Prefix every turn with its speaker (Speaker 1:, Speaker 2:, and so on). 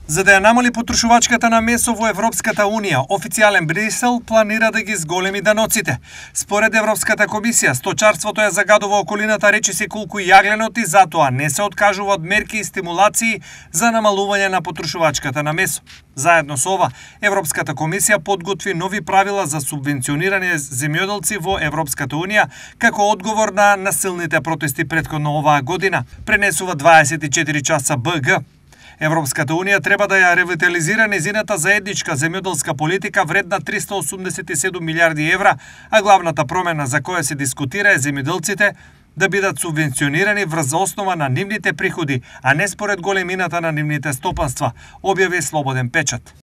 Speaker 1: За да ја намали потрошувачката на месо во Европската Унија, официјален Брисел планира да ги зголеми даноците. Според Европската комисија, сточарството ја загадува околината речиси колку јагленот и затоа не се откажува од мерки и стимулации за намалување на потрошувачката на месо. Заедно со ова, Европската комисија подготви нови правила за субвенционирање земјоделци во Европската Унија како одговор на насилните протести претходно оваа година, пренесува 24 часа БГ. Европската Унија треба да ја ревитализира незината заедничка земјоделска политика вредна 387 милиарди евра, а главната промена за која се дискутира е земјоделците да бидат субвенционирани врз основа на нивните приходи, а не според големината на нивните стопанства, објави Слободен печат.